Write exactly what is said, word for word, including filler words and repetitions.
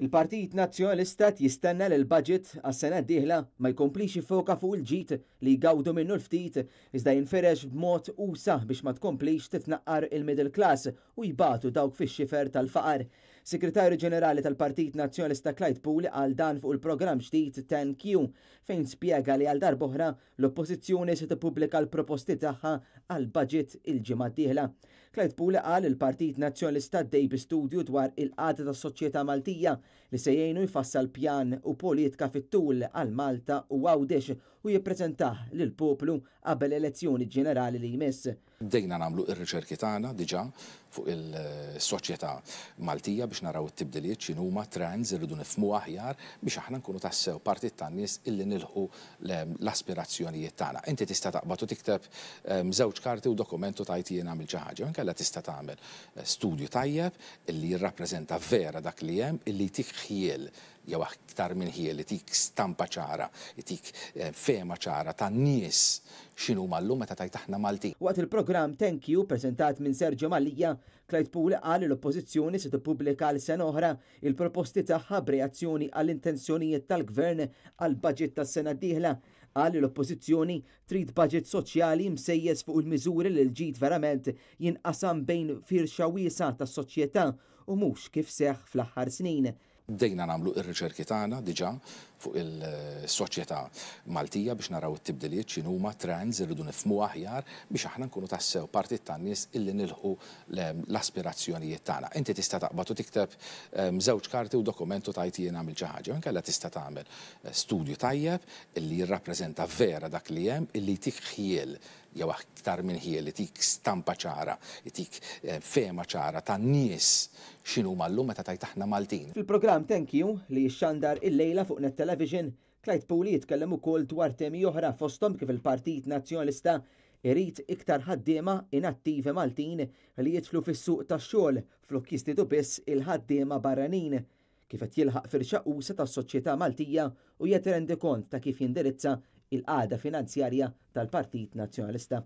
Il-Partit Nazzjonalista jistenna li l-budget għas-sena d-dieħla ma jkomplix jiffoka fuq il-ġid li jgawdu minnu l-ftit, iżda jinfirex b'mod usa' biex ma tkomplix titnaqqar il-middle class u jbatu dawk fix-xifer tal-faqar. Segretarju Ġenerali tal-Partit Nazzjonalista Clyde Puli qal dan fuq il-programm ġdid ten Q, fejn spjega li għal darb'oħra l-Oppożizzjoni se tippubblika l-proposti tagħha għal budget il-ġimgħa d-dieħla. Clyde Puli qal il-Partit Nazzjonalista għaddej bi studju dwar il-qagħda tas-soċjetà Maltija li se jgħinu jfassal pjan u politika fit-tul għal Malta u Għawdex u jippreżentah lill-poplu qabel elezzjoni ġenerali li jmiss. Bdejna nagħmlu ir-riċerki tagħna diġà fuq il-soċjetà Maltija biex naraw it-tibdiliet, x'inhuma trends irridu nifhmu aħjar biex aħna nkunu tassew partit tan-nies illi nilħu l-aspirazzjonijiet tagħna. Inti tista' taqbad u tikteb ehm, żewġ karti u dokumentu tajt jien għamil xi ħaġa, inkella tista' tagħmel eh, studju tajjeb illi jirrappreżenta vera dak li hemm, illi jtik ħjiel, jew aktar minn ħjiel, jtik stampa ċara, jtik eh, fehma ċara tan-nies x'inhuma llum meta tajt aħna Maltin. Waqt il-programm Thank You preżentat minn Sergio Mallia, Clyde Puli qal li l-Oppożizzjoni se tippubblika l sena oħra il-proposti tagħha b'reazzjoni għall-intenzjonijiet tal-Gvern għal budget tas-sena d-dieħla. Qal li l-Oppożizzjoni trid budget soċjali msejjes fuq il-miżuri li l-ġid verament jinqasam bejn firxa wiesgħa tas-soċjetà u mhux kif seħħ fl-aħħar snin. Bdejna nagħmlu ir-riċerki tagħna diġà fuq il-soċjetà Maltija biex naraw it-tibdiliet, x'inhuma trends irridu nifhmu aħjar biex aħna nkunu tassew partit tan-nies illi nilħu l-aspirazzjonijiet tagħna. Inti tista' taqbad u tikteb ehm, żewġ karti u dokumentu tajt jien għamil xi ħaġa, inkella tista' tagħmel eh, studju tajjeb illi jirrappreżenta vera dak li hemm, illi jtik ħjiel, jew aktar minn ħjiel, jtik stampa ċara, jtik eh, fehma ċara tan-nies x'inhuma llum meta tajt aħna Maltin. Fil-programm Thank You li jixxandar il-lejla fuq Net Television, Clyde Puli jitkellem ukoll dwar temi oħra, fosthom kif il-Partit Nazzjonalista irid iktar ħaddiema inattivi Maltin li jidħlu fis-suq tax-xogħol flok jistidu biss il-ħaddiema barranin, kif qed jilħaq firxa usa' tas-soċjetà Maltija u jagħti rendikont ta' kif jindirizza il-qagħda finanzjarja tal-Partit Nazzjonalista.